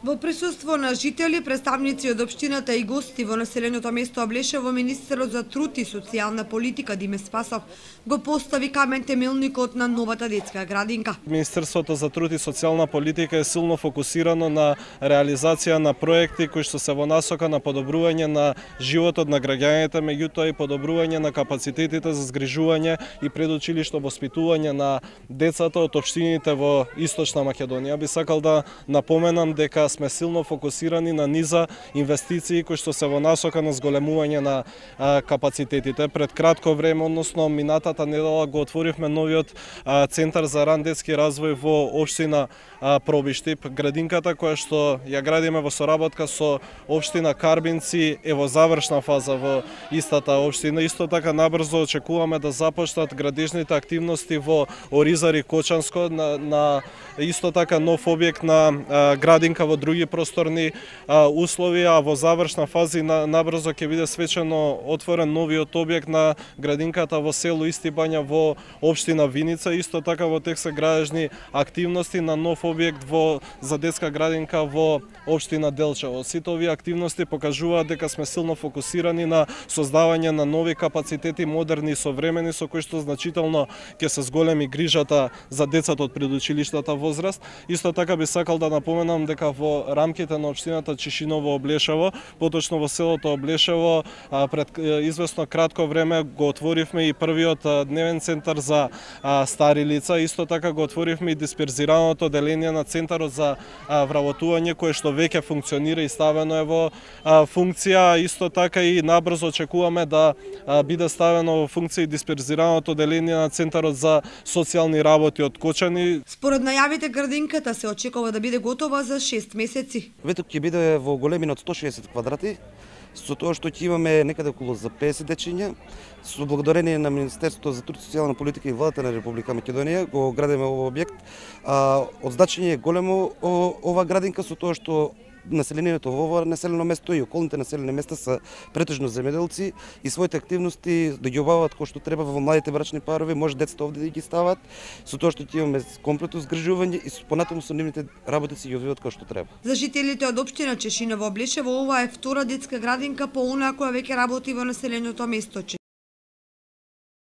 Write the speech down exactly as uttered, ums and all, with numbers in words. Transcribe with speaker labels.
Speaker 1: Во присуство на жители, представници од општината и гости во населеното место Облешево, министерот за труд и социјална политика Диме Спасов го постави камен темелникот на новата детска градинка.
Speaker 2: Министерството за труд и социјална политика е силно фокусирано на реализација на проекти кои што се во насока на подобрување на животот на граѓаните, меѓутоа и подобрување на капацитетите за згрижување и предучилишно воспитување на децата од општините во Источна Македонија. Би сакал да напоменам дека сме силно фокусирани на низа инвестиции кои што се во насока на зголемување на а, капацитетите. Пред кратко време, односно минатата недела, го отворивме новиот а, центар за ран детски развој во општина а, Пробиштип. Градинката која што ја градиме во соработка со општина Карбинци е во завршна фаза во истата општина. Исто така набрзо очекуваме да започнат градежните активности во Оризари Кочанско, на, на исто така нов објект на а, градинка во други просторни а, услови, а во завршна фаза на, набрзо ќе биде свечено отворен новиот објект на градинката во село Исти Бања во општина Виница. Исто така во тек се градежни активности на нов објект во за детска градинка во општина Делчево. Сите овие активности покажуваат дека сме силно фокусирани на создавање на нови капацитети, модерни и современи, со кои што значително ќе се зголеми грижата за децата од предучилиштата возраст. Исто така би сакал да напоменам дека во рамките на општината Чишиново Облешево, поточно во селото Облешево, пред известно кратко време го отворивме и првиот дневен центар за стари лица. Исто така го отворивме и дисперзираното деление на центарот за вработување, кое што веќе функционира и ставено е во функција. Исто така и набрзо очекуваме да биде ставено во функција и дисперзираното деление на центарот за социјални работи од Кочани.
Speaker 1: Според најавите, градинката се очекува да биде готова за шест месеци.
Speaker 3: Ветот ќе биде во големина од сто шеесет квадрати, со тоа што ќе имаме некаде околу за песет дечиња. Со благодарение на Министерството за труд и социјална политика и владата на Република Македонија го градиме овој објект. А, од значење е големо ова градинка, со тоа што населението во ова населено место и околните населени места се претежно земјоделци и своите активности да ги обаваат кој што треба во младите брачни парови, може децата овде да ги стават, со тоа што ќе имаме комплетно згрижување и понатаму со нивните работи си ги одвиваат како што треба.
Speaker 1: За жителите од општина Чешиново Облешево, ова е втора детска градинка по онаа која веќе работи во населеното место.